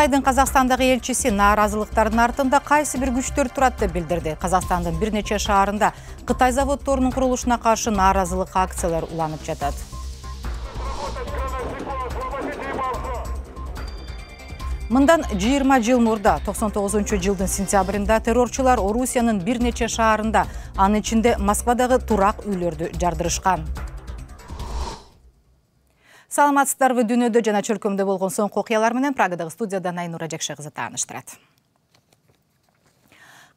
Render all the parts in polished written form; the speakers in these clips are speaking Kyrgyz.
Кытайдын Казакстандагы элчиси нааразылыктардын артында кайсы бир күчтөр турат деп билдирди. Казакстандын бир нече шаарында Кытай заводдорунун курулушуна каршы нааразылык акциялар уланып жатат. Мындан 20 жыл мурда 99-жылдын сентябрында террорчулар Орусиянын бир нече шаарында, анын ичинде Москвадагы турак үйлөрдү жардырышкан. Саламатсыздарбы, дүйнөдө жана чөлкөмдө болгон соңку окуялар менен Прагадагы студиядан Айнура Жакшы кызы тааныштырат.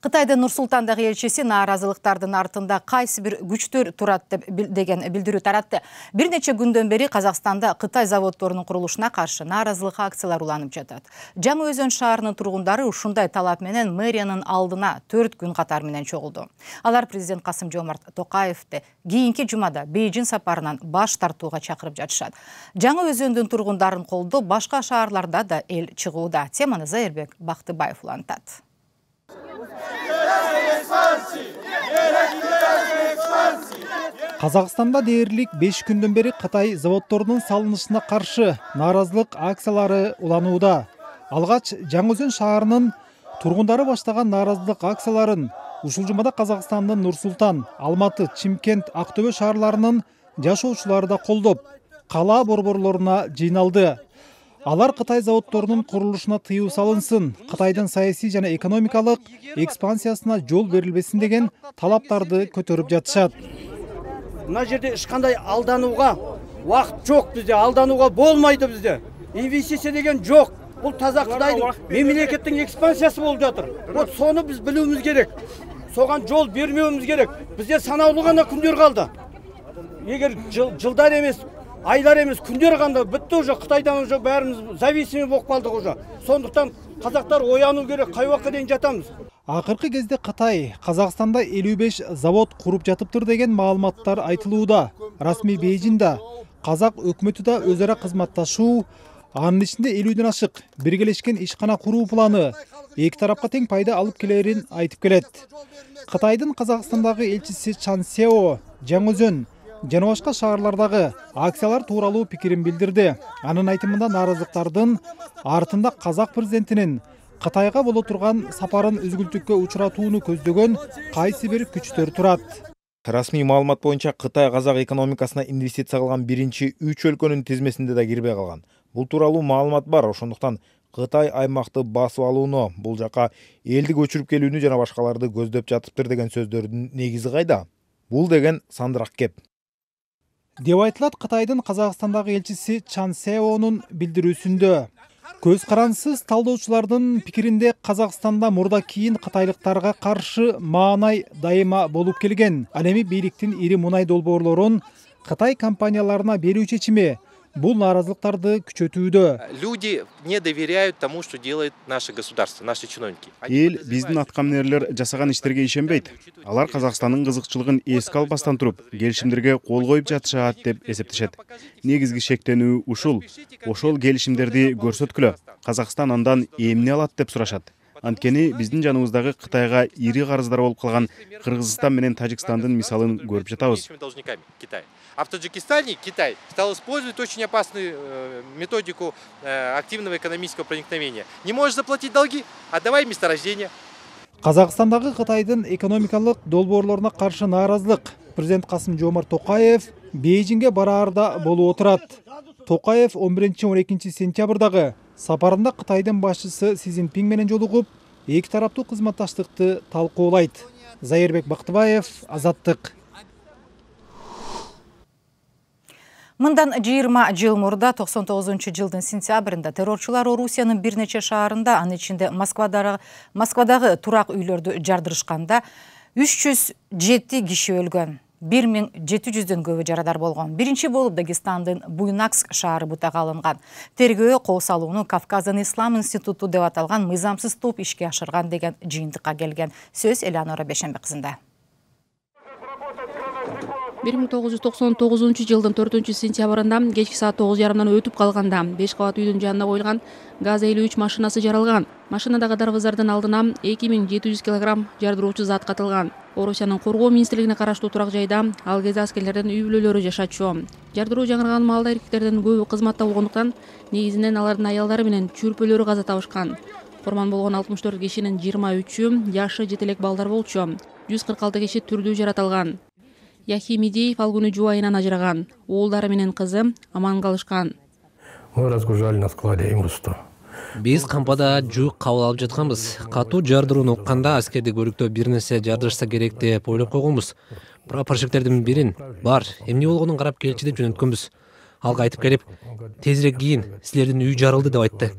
Кытайдын Нур-Султандагы элчиси нааразылыктардын артында кайсы бир күчтөр турат деген билдирүү таратты. Бир нече күндөн бери Казакстанда Кытай заводдорунун курулушуна каршы нааразылык акциялар уланып жатат. Жаңы Өзөн шаарынын тургундары ушундай талап менен мэриянын алдына 4 күн катар менен чогулду. Алар президент Касым-Жомарт Токаевди кийинки жумада Бейжин сапарынан баш тартууга чакырып жатышат. Жаңы Өзөндүн тургундарын колдоп, башка шаарларда да эл чыгууда. Теманы Зайырбек Бактыбаев улантат. Казакстанда дээрлик 5 күндөн бери Кытай заводдорунун салынышына каршы нааразылык акциялары уланууда. Алгач Жаңы Өзөн шаарынын тургундары баштаган нааразылык акцияларын ушул жумада Казакстандын Нур-Султан, Алматы, Чимкент, Актөбө шаарларынын жашоочулары да колдоп, кала борборлоруна жыйналды. Алар Кытай заводдорунун курулушуна тыюу салынсын, Кытайдын саясий жана экономикалык экспансиясына жол берилбесин деген талаптарды көтөрүп жатышат. Мына жерде эч кандай алданууга убакыт жок бизде, алданууга болмойду бизде. Инвестиция деген жок. Бул таза Кытайдын мемлекеттин экспансиясы болуп жатыр. Вот сону биз билүүбүз керек. Соган жол бермөөбүз керек. Бизде санаулуу гана күндөр калды. Эгер жылдар эмес, айлар эмес, күндөр канда бүтті уже Кытайдан уже баарыбыз зависимый болуп калдык уже. Сондуктан казактар оянуу керек, кай убакка дейин жатамыз. Акыркы кезде Кытай Казакстанда 55 завод куруп жатыптыр деген маалыматтар айтылууда. Расмий Бейжинда казак өкмөтү да өз ара кызматташуу, анын ичинде 50ден ашык биргелешкен ишкана куруу планы эки тарапка тең пайда алып келерин айтып келет. Кытайдын Казакстандагы элчиси Чан Сео Жаңы Өзөн жана башка шаарлардагы акциялар тууралуу пикирин билдирди. Анын айтымында нааразылыктардын артында казак президентинин Кытайга боло турган сапарын үзгүлтүккө учуратууну көздөгөн кайсы бир күчтөр турат. Расмий маалымат боюнча Кытай казак экономикасына инвестиция кылган биринчи 3 өлкөнүн тизмесинде да кирбей калган. Бул тууралуу маалымат бар, ошондуктан Кытай аймакты басып алууну, бул жака элди көчүрүп келүүнү жана башкаларды көздөп жатыптыр деген сөздөрдүн негизи кайда? Бул деген сандырак кеп. Деп айтылат Кытайдын Казакстандагы элчиси Чан Сеонун билдирүүсүндө. Көз карансыз талдоочулардын пикиринде Казакстанда мурда кийин кытайлыктарга каршы маанай дайыма болуп келген. Ал эми бийликтин ири мунай долбоорлорун Кытай компанияларына берүү чечими бул нааразылыктарды күчөтүүдө. Люди не доверяют тому, что делает наше государство, наши чиновники. Эл биздин аткаминерлер жасаган иштерге ишенбейт. Алар Казакстандын кызыкчылыгын эске албастан туруп, келишимдерге кол коюп жатышат деп эсептешет. Негизги шектенүү ушул. Ошол келишимдерди көрсөткүлө. Казакстан андан эмне алат деп сурашат. Анткени биздин жаныбыздагы Кытайга ири карыздар болуп калган Кыргызстан менен Тажикстандын мисалын көрүп жатабыз. А в Таджикистане Китай стал использовать очень опасную методику активного экономического проникновения. Не можешь заплатить долги, отдавай месторождение. Казакстандагы Кытайдын экономикалык долбоорлоруна каршы нааразылык президент Касым-Жомарт Токаев Бейжинге бараарда болуп отурат. Токаев 11-12 сентябрдагы сапарында Кытайдын башчысы Си Цзиньпин менен жолугуп, эки тараптуу кызматташтыкты талкуулайт. Зайырбек Бактыбаев, Азаттык. Мындан 20 жыл мурда 99-жылдын сентябрында террорчулар Орусиянын бир нече шаарында, анын ичинде Москвадагы турак үйлөрдү жардырышканда 307 киши өлгөн. 1700дөн көбү жарадар болгон. Биринчи болуп Дагестандын Буйнакск шаары бутага алынган. Тергөө кол салууну Кавказдын Ислам институту деп аталган мыйзамсыз топ ишке ашырган деген жыйынтыкка келген. Сөз Элеонора Бешенбек кызында. 1999 жылдын 4-сентябрында кечки саат 9:30 өтүп калганда 5 кабат үйдүн жанына коюлган ГАЗ-53 машинасы жаралган. Машинадагы дарбыздардын алдына 2700 кг жардыруучу зат катылган. Орусиянын коргоо министрлигине караштуу турак жайда ал кезде аскерлердин үй бүлөлөрү жашачу. Жардыруу жаңырган маалда эркектердин көбү кызматта болгондуктан негизинен алардын аялдары менен чүрпөлөрү каза табышкан. Курман болгон 64 кишинин 23-ü жашы жете элек балдар болчу. 146 киши түрдүү жаратылган. Яхи Медеев ал күнү жубайынан ажыраган. Уулдары менен кызы аман калышкан. Мы разгружали на складе имущество. Биз кампада жүк кабыл алып жатканбыз. Катуу жардырууну укканда аскерди көрүктөө бир нерсе жардырышса керек деп ойлоп койгонбуз. Прапорщиктердин бирин бар, эмне болгонун карап келчи деп жөнөткөнбүз. Алга айтып келип, тезирээк кийин, силердин үй жарылды деп айтты.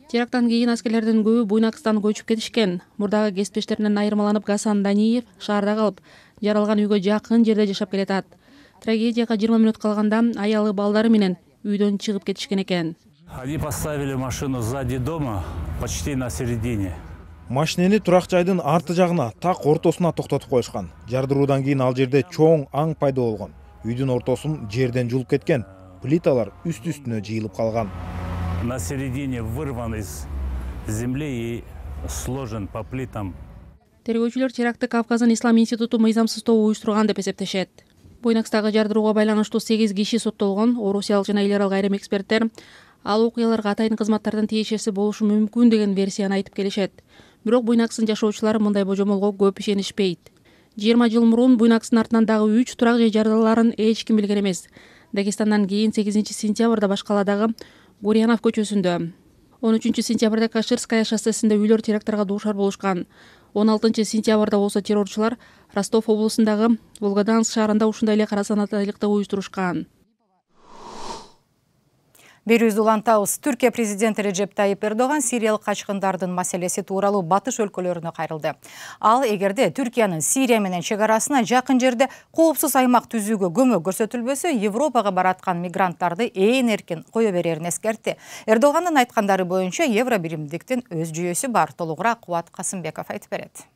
Терактан кийин аскерлердин көбү Буйнакстан көчүп кетишкен. Мурдагы кесиптештеринен айырмаланып Гасан Даниев шаарда калып, жаралган үйгө жакын жерде жашап келатат. Трагедияга 20 мүнөт калганда аялы балдары менен үйдөн чыгып кетишкен экен. Они поставили машину сзади дома, почти на середине. Машинени турак жайдын арты жагына, так ортосуна токтотуп коюшкан. Жардыруудан кийин ал жерде чоң аң пайда болгон. Үйдүн ортосун жерден жулуп кеткен. Плиталар үст-үстүнө жыйылып калган. На середине вырван из земли и сложен по плитам. Тергөөчүлөр терактты Кавказдын Ислам институту мыйзамсыз тобу уюштурган деп эсептешет. Буйнакстагы жардырууга байланыштуу 8 киши соттолгон. Орусиялык жана эл аралык айрым эксперттер ал окуяларга атайын кызматтардын тиешеси болушу мүмкүн деген версияны айтып келишет. Бирок Буйнакстын жашоочулары мындай божомолго көп ишенишпейт. 20 жыл мурун Буйнакстын артынан дагы 3 турак жай жарылаларын эч ким билген эмес. Дагестандан кийин 8-сентябрда Башкаладагы Гурьянов көчөсүндө, 13-сентябрда Каширская шоссесинде үйлөр теракттарга дуушар болушкан. 16-сентябрда болсо террорчулар Ростов облусундагы Волгоданск шаарында ушундай эле карасанаттуулукты уюштурушкан. Берүүбүздү улантабыз. Түркия президенти Режеп Тайип Эрдоган сириялык качкындардын маселеси тууралуу батыш өлкөлөрүнө кайрылды. Ал эгерде Түркиянын Сирия менен чек арасына жакын жерде коопсуз аймак түзүүгө көмөк көрсөтүлбөсө, Европага бараткан мигранттарды ээн эркин кое берерин эскертти. Эрдогандын айткандары боюнча евро биримдиктин өз жүйөсү бар. Толугураак Кубат Касымбеков айтып берет.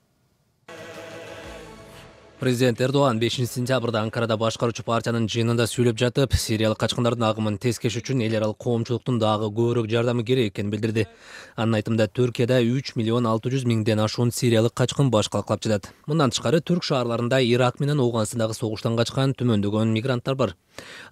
Президент Эрдоган 5-сентябрда Анкарада башкаруучу партиянын жыйынында сүйлөп жатып, сириялык качкындардын агымын тескеш үчүн эл аралык коомчулуктун дагы көбүрөөк жардамы керек экенин билдирди. Анын айтымында Түркияда 3.600.000ден ашуун сириялык качкын баш калкалап жатат. Мындан тышкары түрк шаарларында Ирак менен Ооганстандагы согуштан качкан түмөндөгөн мигранттар бар.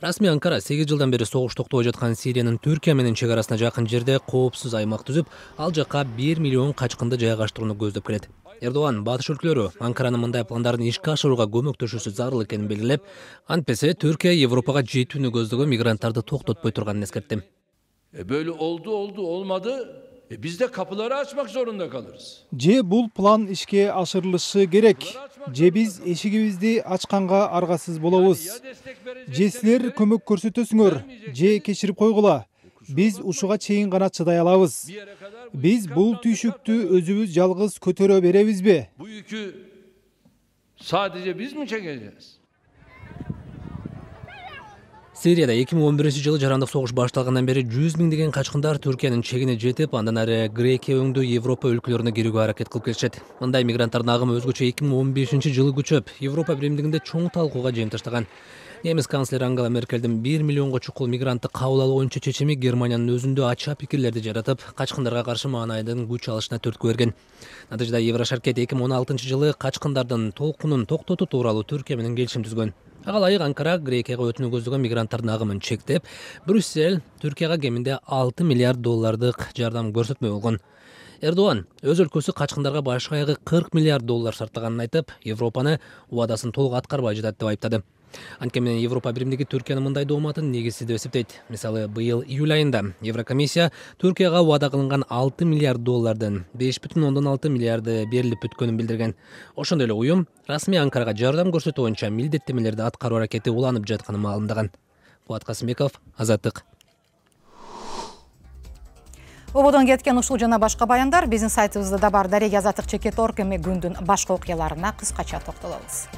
Расмий Анкара 8 жылдан бери согуш токтобой жаткан Сириянын Түркия менен чек арасына жакын жерде коопсуз аймак түзүп, ал жакка 1 миллион качкынды жайгаштырууну көздөп келет. Эрдоган батыш өлкөлөрү Анкаранын мындай пландарын ишке ашырууга көмөктөшүүсү зарыл экенин белгилеп, антпесе Түркия Европага жетүүнү көздөгөн мигранттарды токтотпой турганын эскертти. Böyle oldu olmadı. Biz de kapıları açmak zorunda kalırız. Же бул план ишке ашырылышы керек. Же биз эшигибизди ачканга аргасыз болобуз. Же силер көмөк көрсөтөсүңөр, же кечирип койгула. Биз ушуга чейин гана чыдай алабыз. Биз бул түйшүктү өзүбүз жалгыз көтөрө беребизби? Bu yükü sadece biz mi çekeceğiz? Сирияда 2011-жылы жарандык согуш башталгандан бери 100.000 качкындар Түркиянын чегине жетип, андан ары Грекия өңдүү Европа өлкөлөрүнө кирүүгө аракет кылып келишет. Мындай мигранттардын агымы өзгөчө 2015-жылы күчөп, Европа биримдигинде чоң талкууга жем таштаган. Немис канцлери Ангела Меркелдин 1 миллионго чукул мигрантты кабыл алуу боюнча чечими Германиянын өзүндө ача пикирлерди жаратып, качкындарга каршы маанайдын күч алышына түрткү берген. Натыйжада Еврошаркет 2016-жылы качкындардын толкунун токтотуу тууралуу Түркия менен келишим түзгөн. Ага ылайык Анкара Грекияга өтүүнү көздөгөн мигранттардын агымын чектеп, Брюссель Түркияга кеминде $6 миллиард жардам көрсөтмөй болгон. Эрдоган өз өлкөсү качкындарга баш аягы $40 миллиард сарптаганын айтып, Европаны убадасын толук аткарбай жатат деп айыптады. Анткени Европа биримдиги Түркиянын мындай дооматын негизсиз деп эсептейт. Мисалы, быйыл июль айында Еврокомиссия Түркияга убада кылынган $6 миллиард $5.6 миллиарды берилип бүткөнүн билдирген. Ошондой эле уюм расмий Анкарага жардам көрсөтүү боюнча милдеттемелерди аткаруу аракети уланып жатканын маалымдаган. Кубат Касымбеков, Азаттык. Ободон кеткен ушул жана башка баяндар биздин сайтыбызда да бар. Дарек Азаттык.org эми күндүн башка окуяларына кыскача токтолобуз.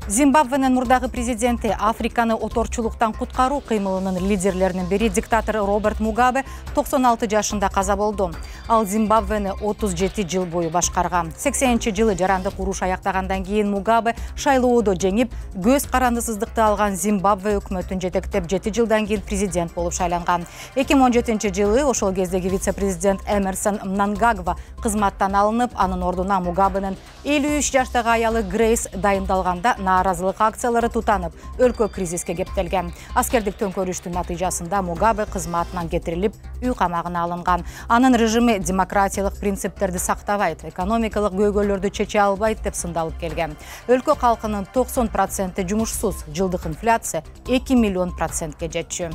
Зимбабвенин мурдагы президенти Африканы оторчулуктан куткаруу кыймылынын лидерлеринин бири диктатор Роберт Мугабе 96 жашында каза болду. Ал Зимбабвени 37 жыл бою башкарган. 80-жылы жарандык уруш аяктагандан кийин Мугабе шайлоодо жеңип, көз карандысыздыкты алган Зимбабве өкмөтүн жетектеп 7 жылдан кийин президент болуп шайланган. 2017-жылы ошол кездеги вице-президент Эмерсон Мнангагва кызматтан алынып, анын ордуна Мугабенин 53 жаштагы аялы Грейс дайындалганда нааразылык акциялары тутанып, өлкө кризиске кептелген. Аскердик төңкөрүштүн натыйжасында Мугабе кызматынан кетирилип, үй камагына алынган. Анын режими демократиялык принциптерди сактабайт, экономикалык көйгөйлөрдү чече албайт деп сындалып келген. Өлкө калкынын 90% жумушсуз, жылдык инфляция 2 миллион процентке жетчү.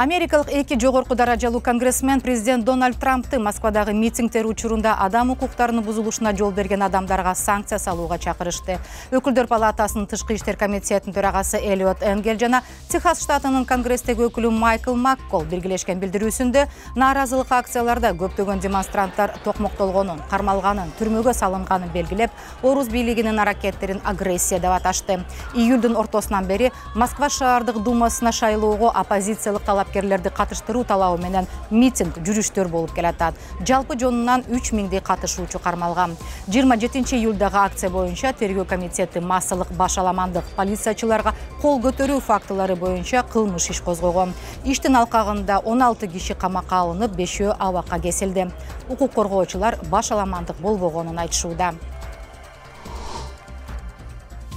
Америкалык эки жогорку даражалуу конгрессмен президент Дональд Трампты Москвадагы митингдер учурунда адам укуктарынын бузулушуна жол берген адамдарга санкция салууга чакырышты. Өкүлдөр палатасынын тышкы иштер комитетинин төрагасы Элиот Энгел жана Техас штатынын конгресстеги өкүлү Майкл Маккол биргелешкен билдирүүсүндө нааразылык акцияларда көптөгөн демонстранттар токмоктолгонун, кармалганын, түрмөгө салынганын белгилеп, Орус бийлигинин аракеттерин агрессия деп аташты. Июлдун ортосунан бери Москва шаардык думасына шайлоого оппозициялык талапкерлерди катыштыруу талабы менен митинг, жүрүштөр болуп келатат. Жалпы жонунан 3000 катышуучу кармалган. 27 июлдагы акция боюнча тергөө комитети массалык башаламандык, полициячыларга кол көтөрүү фактылары боюнча кылмыш иш козгогон. Иштин алкагында 16 киши камакка алынып, 5-өө абакка кесилди. Укук коргоочулар башаламандык болбогонун айтышууда.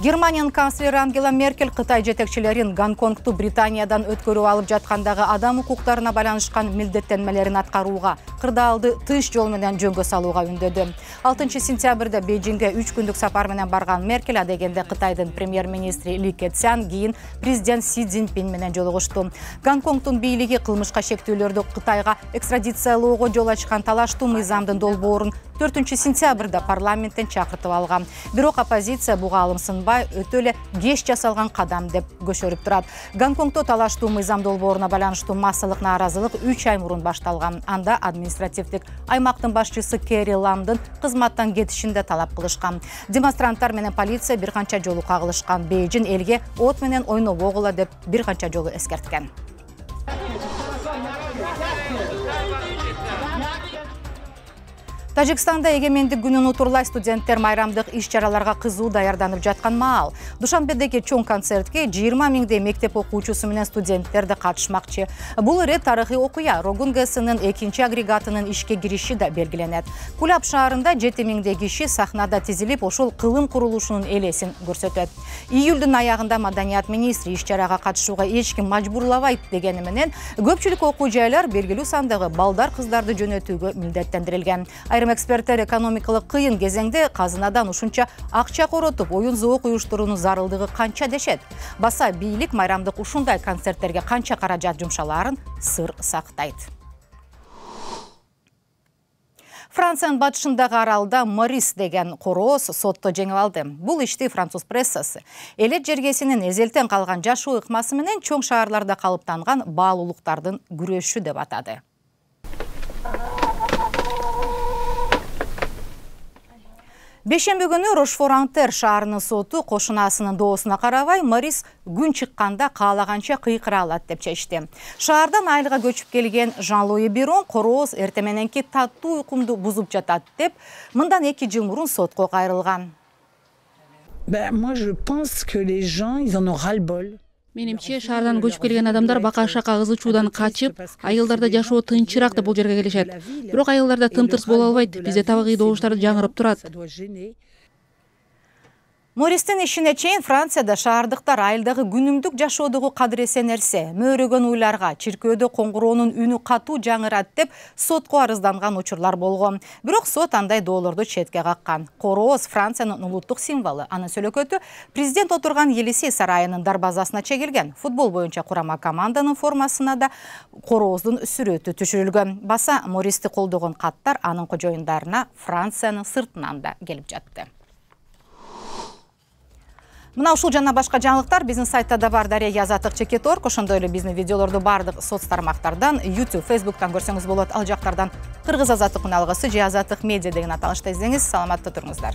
Германиянын канцлери Ангела Меркель Кытай жетекчилерин Гонконгту Британиядан өткөрүп алып жаткандагы адам укуктарына байланышкан милдеттенмелерин аткарууга, кырдаалды тыш жол менен жөнгө салууга үндөдү. 6 сентябрда Бейжиңге 3 күндүк сапар менен барган Меркель адегенде Кытайдын премьер-министри Ли Кэцян кийин президент Си Цзиньпин менен жолугушту. Гонконгдун бийлиги кылмышка шектүүлөрдү Кытайга экстрадициялоого жол ачкан талаштуу мыйзамдын долбоорун 4 сентябрда парламенттен чакыртып алган. Бирок оппозиция буга алым сынбай, өтө эле кеч жасалган кадам деп көчөрүп турат. Гонконгдо талаштуу мыйзам долбооруна байланыштуу массалык нааразылык 3 ай мурун башталган. Анда административдик аймактын башчысы Кэри Ламдын кызматтан кетишин да талап кылышкан. Демонстранттар менен полиция бир канча жолу кагылышкан. Бейжиң элге от менен ойнобогула деп бир канча жолу эскерткен. Тажикстанда эгемендик күнүн утурлай студенттер майрамдык иш-чараларга кызуу даярданып жаткан маал. Душанбедеги чоң концертке 20 000 мектеп окуучусу менен студенттер да катышмакчы. Бул ирет тарыхый окуя. Рогун ГЭСынын 2 агрегатынын ишке кириши да белгиленет. Кулап шаарында 7 000 киши сахнада тизилип, ошол кылым курулушунун элесин көрсөтөт. Июлдун аягында маданият министри иш-чарага катышууга эч ким мажбурлабайт дегени менен, көпчүлүк окуу жайлар белгилүү сандагы балдар кыздарды жөнөтүүгө милдеттендирилген. Эксперттер экономикалык кыйын кезеңде казынадан ушунча акча коротуп, оюн зоок уюштуруунун зарылдыгы канча дешет. Баса бийлик майрамдык ушундай концерттерге канча каражат жумшалаарын сыр сактайт. Франциянын батышындагы аралда Морис деген корооз сотто жеңип алды. Бул ишти француз прессасы элет жергесинин эзелтен калган жашоо ыкмасы менен чоң шаарларда калыптанган баалуулуктардын күрөшү деп атады. Бешемби күнү Рошфор-Антер шаарынын соту кошунасынын доосуна карабай Морис күн чыкканда каалаганча кыйкыра алат деп чечти. Шаардан айылга көчүп келген Жан-Луи Бирон корооз эрте мененки таттуу уйкумду бузуп жатат деп мындан 2 жыл мурун сотко кайрылган. Moi je pense que les gens ils en ont ras-le-bol. Менимче шаардан көчүп келген адамдар бака-шака кызычуудан качып, айылдарда жашоо тынчыраак деп бул жерге келишет. Бирок айылдарда тым-тырс боло албайт. Бизде табигый добуштар жаңырып турат. Мористин ишине чейин Францияда шаардыктар айылдагы күнүмдүк жашоодогу кадыресе нерсе, мөөрөгөн уйларга, чиркөөдө коңгуроонун үнү катуу жаңырат деп сотко арызданган учурлар болгон. Бирок сот андай доолорду четке каккан. Корооз Франциянын улуттук символу. Анын сөлөкөтү президент отурган Елисей сарайынын дарбазасына чегилген. Футбол боюнча курама команданын формасына да корооздун сүрөтү түшүрүлгөн. Баса Мористи колдогон каттар анын кожоюндарына Франциянын сыртынан да келип жатты. Мына ушул жана башка жаңылыктар биздин сайтта да бар. Дарья Язатык Чекеторг. Ошондой эле биздин видеолорду бардык соц тармактардан, YouTube, Facebook'тан көрсөңүз болот. Ал жактардан Кыргыз Азаттык каналыгысы же Азаттык медиа деген аталышта издеңиз. Саламатта туруңуздар.